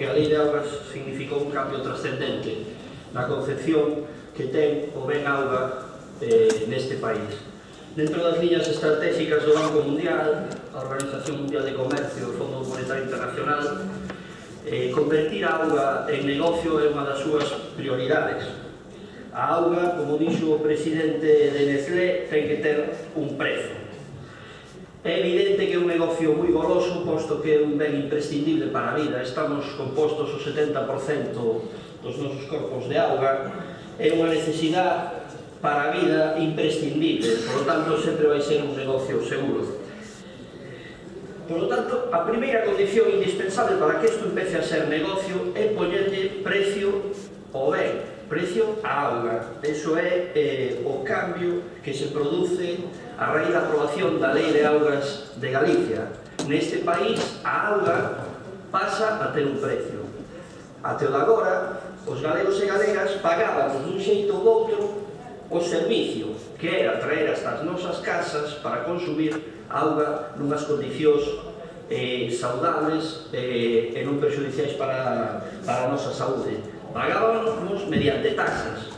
porque a Lei de Augas significou un cambio trascendente na concepción que ten o ben auga neste país. Dentro das liñas estratégicas do Banco Mundial, a Organización Mundial de Comercio, o Fondo Monetario Internacional, convertir a auga en negocio é unha das súas prioridades. A auga, como dixo o presidente de Nestlé, ten que ter un prezo. É evidente que é un negocio moi goloso, posto que é un ben imprescindible para a vida. Estamos compostos o 70% dos nosos corpos de auga. É unha necesidade para a vida imprescindible, por lo tanto, sempre vai ser un negocio seguro. Por lo tanto, a primeira condición indispensable para que isto empece a ser negocio é poñerlle precio ao ben, precio á auga. Eso é o cambio que se produce a raíz da aprobación da Lei de Augas de Galicia. Neste país, a auga pasa a ter un precio. Até o de agora, os galegos e galegas pagábamos dun xeito ou outro o servicio, que era traer hasta as nosas casas para consumir auga nunhas condicións saudables e non perxudiciais para a nosa saúde. Pagábamos mediante taxas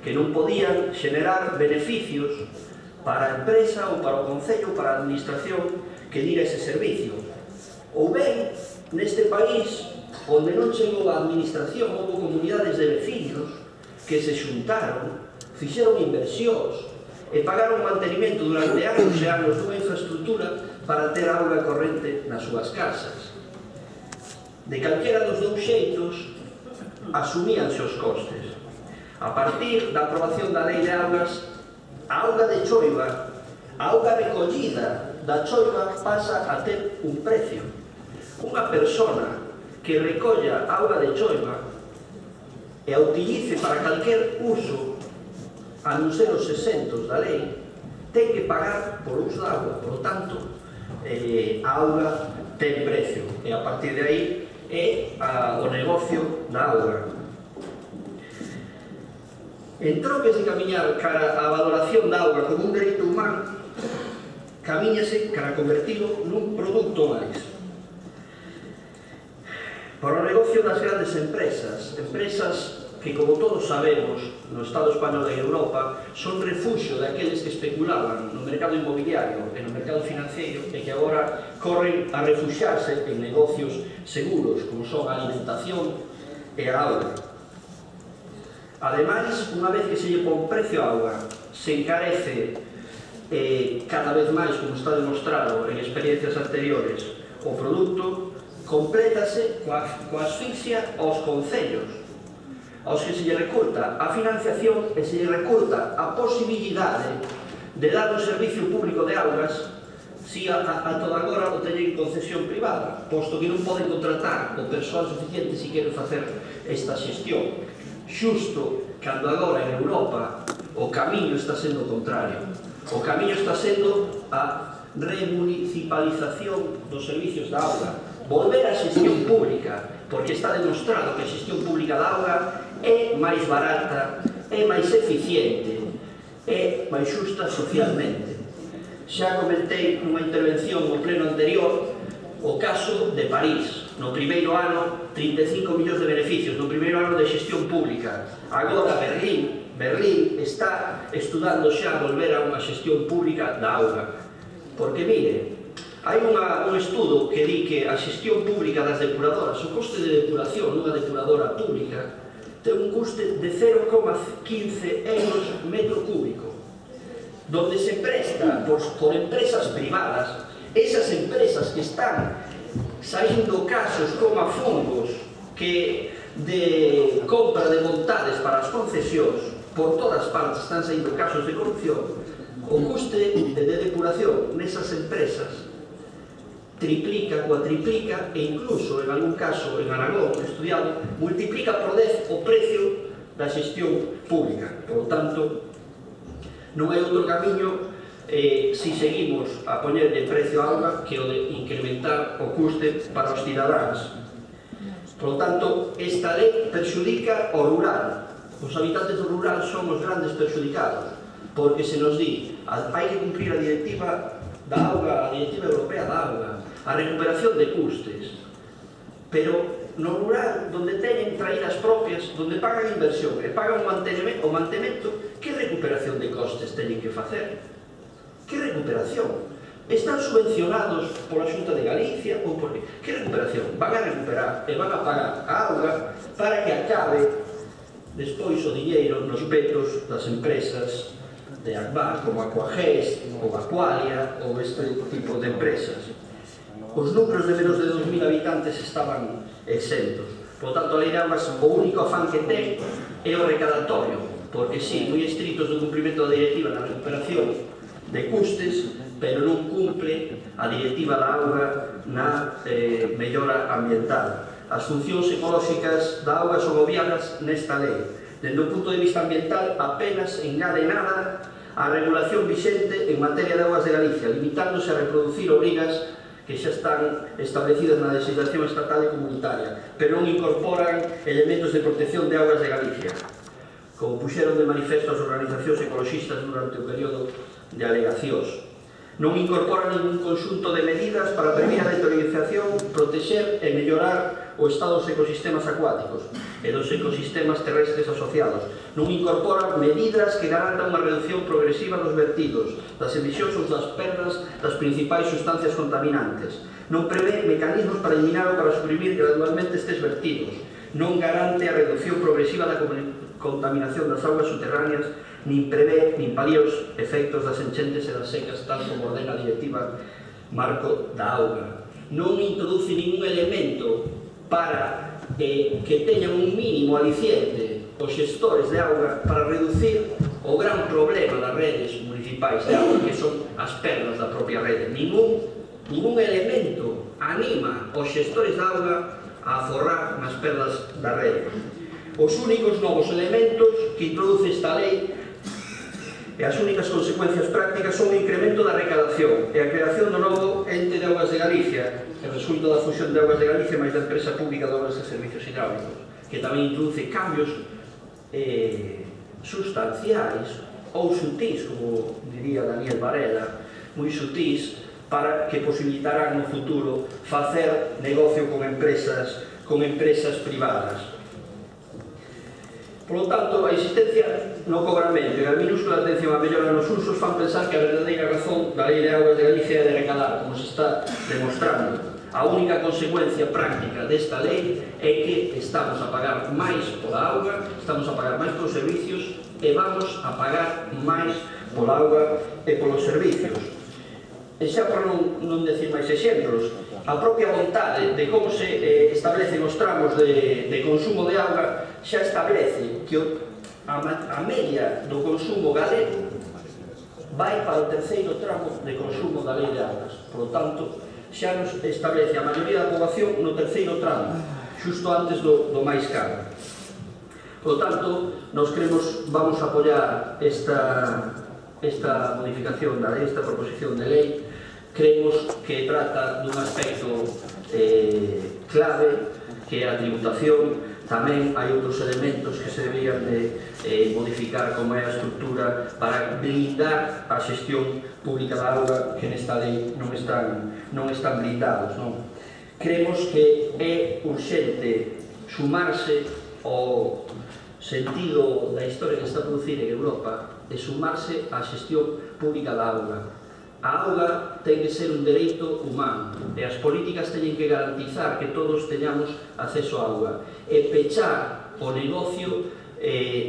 que non podían xenerar beneficios para a empresa ou para o concello ou para a administración que dira ese servicio. Ou ben, neste país, onde non chegou a administración, houve comunidades de veciños que se xuntaron, fixeron inversións e pagaron mantenimento durante anos e anos dunha infraestructura para ter auga corrente nas súas casas. De calquera dos dous xeitos, asumíanse os costes. A partir da aprobación da Lei de Augas, a auga de choiva, a auga recollida da choiva pasa a ter un precio. Unha persona que recolla auga de choiva e a utilice para calquer uso a non ser os exentos da lei, ten que pagar por uso da auga. Por lo tanto, a auga ten precio e a partir de aí é o negocio da auga. En troques de camiñar cara a valoración da auga como un dereito humano, camiñase cara a convertilo nun produto máis. Para o negocio das grandes empresas, que, como todos sabemos, no Estado español e en Europa, son refuxio daqueles que especulaban no mercado inmobiliario e no mercado financiero e que agora corren a refuxiarse en negocios seguros, como son a alimentación e a auga. Ademais, unha vez que se lle pon precio á auga, se encarece cada vez máis, como está demostrado en experiencias anteriores, o produto complétase coa asfixia aos concellos, aos que se lle recorta a financiación e se lle recorta a posibilidade de dar un servicio público de augas si a toda agora o teñen en concesión privada, posto que non poden contratar o persoal suficiente si queren facer esta xestión. Xusto cando agora en Europa o camiño está sendo o contrario. O camiño está sendo a remunicipalización dos servicios da auga, volver á xestión pública, porque está demostrado que a xestión pública da auga é máis barata, é máis eficiente, é máis xusta socialmente. Xa comentei nunha intervención no pleno anterior o caso de París. No primeiro ano, 35 millóns de beneficios, no primeiro ano de xestión pública. Agora Berlín está estudando xa volver a unha xestión pública da auga. Porque, mire, hai un estudo que di que a xestión pública das depuradoras, o coste de depuración nunha depuradora pública, ten un custe de 0,15 euros metro cúbico, donde se presta por empresas privadas. Esas empresas que están saindo casos como a fungos que de compra de montades para as concesións, por todas partes están saindo casos de corrupción. O custe de depuración nesas empresas triplica, cuatriplica e incluso, en algún caso, en Aragón, estudiado, multiplica por 10 o precio da xestión pública. Por lo tanto, non hai outro camiño si seguimos a poñerlle precio á auga que o de incrementar o custe para os cidadáns. Por lo tanto, esta lei perxudica o rural. Os habitantes do rural son os grandes perxudicados, porque se nos di, hai que cumprir a directiva da auga, a directiva europea da auga, a recuperación de custes, pero no rural, donde teñen traídas propias, donde pagan inversión e pagan o mantemento, que recuperación de costes teñen que facer? Que recuperación? Están subvencionados pola Xunta de Galicia ou por que recuperación? Van a recuperar e van a pagar a auga para que acabe despois o diñeiro nos petos das empresas de Agbar, como Aquagés, ou Aqualia, ou este tipo de empresas. Os números de menos de 2.000 habitantes estaban exentos. Por tanto, a Lei de Augas, o único afán que ten é o recadatorio, porque sí, moi estritos do cumprimento da directiva na recuperación de custes, pero non cumple a directiva da auga na mellora ambiental. As funcións ecolóxicas da auga son obviadas nesta lei. Dende o punto de vista ambiental, apenas engade nada a regulación vixente en materia de augas de Galicia, limitándose a reproducir obrigas que xa están establecidas na legislación estatal e comunitaria, pero non incorporan elementos de protección de augas de Galicia, como puxeron de manifesto as organizacións ecoloxistas durante o período de alegacións. Non incorporan ningún conxunto de medidas para prevenir a deteriorización, protexer e mellorar o estado dos ecosistemas acuáticos e dos ecosistemas terrestres asociados. Non incorporan medidas que garantan unha reducción progresiva dos vertidos, das emisións ou das perdas das principais sustancias contaminantes. Non prevé mecanismos para eliminar ou para suprimir gradualmente estes vertidos. Non garante a reducción progresiva da contaminación das augas subterráneas, nin prevé nin palía os efectos das enchentes e das secas, tal como ordena a directiva marco da auga. Non introduce ningún elemento para que teñan un mínimo aliciente os xestores de auga para reducir o gran problema das redes municipais de auga, que son as perdas da propia rede. Ningún elemento anima os xestores de auga a aforrar nas perdas da rede. Os únicos novos elementos que introduce esta lei e as únicas consecuencias prácticas son o incremento da recadación e a creación do novo ente de augas de Galicia, que resulta da fusión de augas de Galicia máis da empresa pública de obras e servicios hidráulicos, que tamén introduce cambios sustanciais ou sutís, como diría Daniel Varela, moi sutís, para que posibilitarán no futuro facer negocio con empresas privadas. Por lo tanto, a existencia no cobramento e a minúscula atención á mellora nos usos fan pensar que a verdadeira razón da Lei de Augas de Galicia é de recalar, como se está demostrando. A única consecuencia práctica desta lei é que estamos a pagar máis pola auga, estamos a pagar máis polos servicios e vamos a pagar máis pola auga e polos servicios. E xa por non decir máis exemplos, a propia vontade de como se establecen os tramos de consumo de auga xa establece que a media do consumo galego vai para o terceiro tramo de consumo da Lei de Augas. Por lo tanto, xa nos establece a maioría da poboación no terceiro tramo, xusto antes do máis caro. Por lo tanto, nos vamos a apoiar esta modificación da lei, esta proposición de lei. Creemos que trata dun aspecto clave, que é a tributación. Tamén hai outros elementos que se deberían de modificar, como é a estructura para blindar a xestión pública da auga, que nesta lei non están blindados. Creemos que é urxente sumarse ao sentido da historia que está a producir en Europa e sumarse á xestión pública da auga. A auga ten que ser un dereito humano e as políticas teñen que garantizar que todos teñamos acceso á auga e pechar o negocio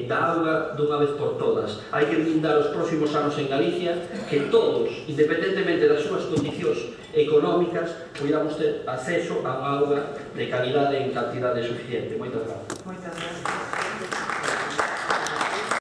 da auga dunha vez por todas. Hai que blindar os próximos anos en Galicia que todos, independentemente das súas condicións económicas, podamos ter acceso a unha auga de calidade e en cantidade suficiente. Moitas gracias.